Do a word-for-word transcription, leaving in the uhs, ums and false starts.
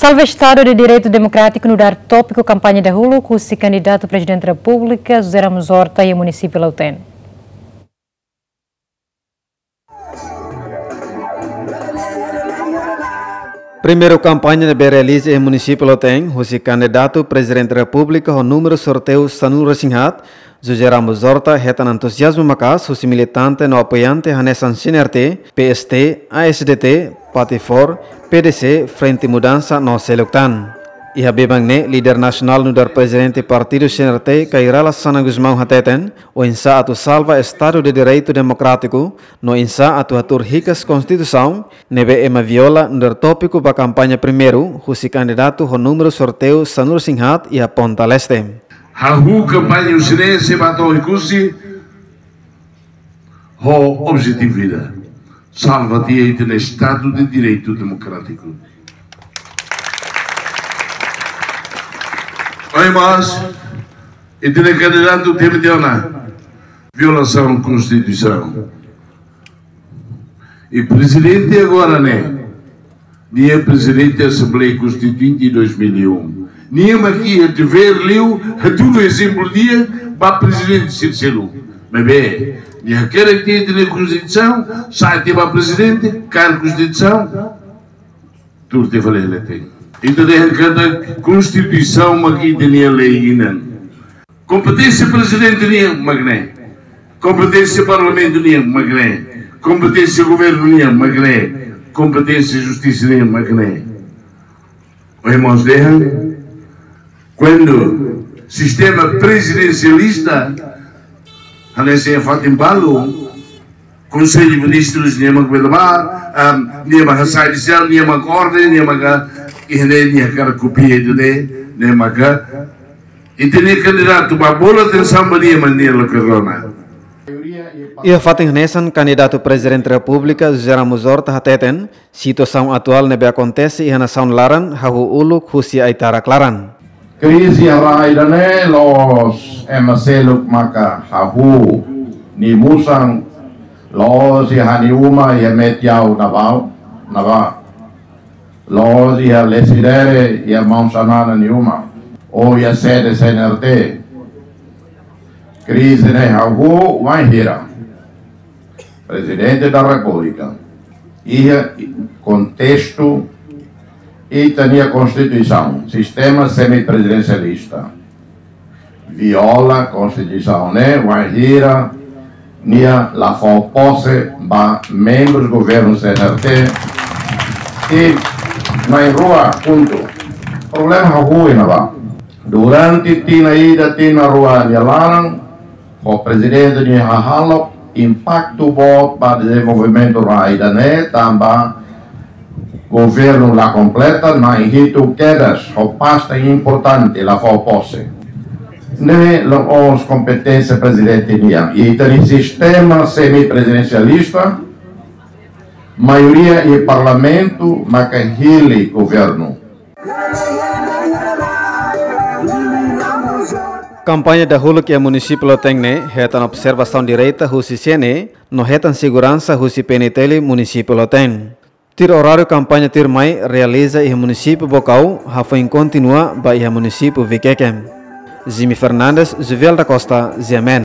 Salva Estado de Direitu Demokrátiku nu'udar tópiku kampaña dahuluk husi kandidatu Prezidente Repúblika José Ramos Horta iha munisípiu Lautém. Primeiru kampaña ne'ebé realiza iha munisípiu Lautém, husi kandidatu Prezidente Repúblika ho númeru sorteiu sanulu-resin-haat, José Ramos Horta hetan entuziazmu maka'as husi militante no apoiante hanesan C N R T, P S T, A S D T, Patipor, P D C, Frente Mudansa no seluk tan. Iha biban ne'e, líder nasionál nu'udar Prezidente Partidu C N R T, Kay Rala Xanana Gusmão hateten, oinsá atu salva Estadu de Direitu Demokrátiku, no oinsá atu hatuur hikas Konstituisaun, ne'ebé ema viola nu'udar tópiku ba kampaña primeiru, husi kandidatu ho númeru sorteiu sanulu-resin-haat iha Ponta Leste. Hahú kampaña husi ne'e sei ba to'o Oekusi ho objetividade. Salva tiha ita-nia Estadu de Direitu Demokrátiku. Ohin mós, ita-nia kandidatu temi tiha ona violasaun Konstituisaun. I prezidente agora ne'e, nia prezidente Asembleia Konstituinte dois mil e um. Nia mak iha devér liu, hatudu ezemplu di'ak ba prezidente sira seluk. Maibé, nia hakerek tiha ita-nia Konstituisaun, sa'e tiha ba prezidente, kaer Konstituisaun, tuur tiha fali leten. Ita dehan katak Konstituisaun mak ita-nia lei inan. Kompeténsia prezidente nian mak ne'e. Kompeténsia parlamentu nian mak ne'e. Kompeténsia governu nian mak ne'e. Kompeténsia justisa nian mak ne'e. Ohin mós dehan, kuandu sistema prezidensialista, hanesan iha fatin balu, Konsellu Ministrus nia mak bele ba, am, nia mak hasai judisiál, nia mak orden, nia mak, iha ne'e nia hakarak kopia ida-ne'e, nia mak, ita-nia kandidatu ba bolu atensaun ba nia, mas nia la kerdona. Iha fatin hanesan, kandidatu Prezidente Repúblika José Ramos Horta hateten, situasaun atuál ne'ebé akontese iha nasaun laran hahú uluk husi ai-tarak laran. Krize iha rai ida-ne'e la'ós ema seluk maka hahú, nia musan, la'ós iha nia uma iha Metiau ne'ebá, ne'ebá. La'ós iha Lecidere, iha maun Xanana nia uma, ou iha sede C N R T. Krize ne'e hahú wainhira Prezidente da Repúblika iha kontestu ita-nia Konstituisaun, sistema semiprezidensialista, viola Konstituisaun ne'e wainhira nia la fó pose ba membrus governu C N R T. I na'in-rua pontu. Problema hahú iha ne'ebá. Durante tinan ida, tinan rua nia laran, ho prezidente nia hahalok, impaktu boot ba dezenvolvimentu rai ida-ne'e, tanba governu la kompleta, na'in-hitu kedas, ho pasta importante la fó pose. Ne'e la'ós kompeténsia prezidente nian. I ita-nia sistema semiprezidensialista, maioria iha parlamentu maka hili governu. Kampaña dahuluk iha munisípiu Lautém ne'e hetan observasaun direta husi C N E no hetan seguransa husi P N T L munisípiu Lautém. Tuir oráriu kampaña tuirmai realiza iha munisípiu Baucau, hafoin kontinua ba iha munisípiu Viqueque. Jimmy Fernandes, Juvel da Costa, G M N.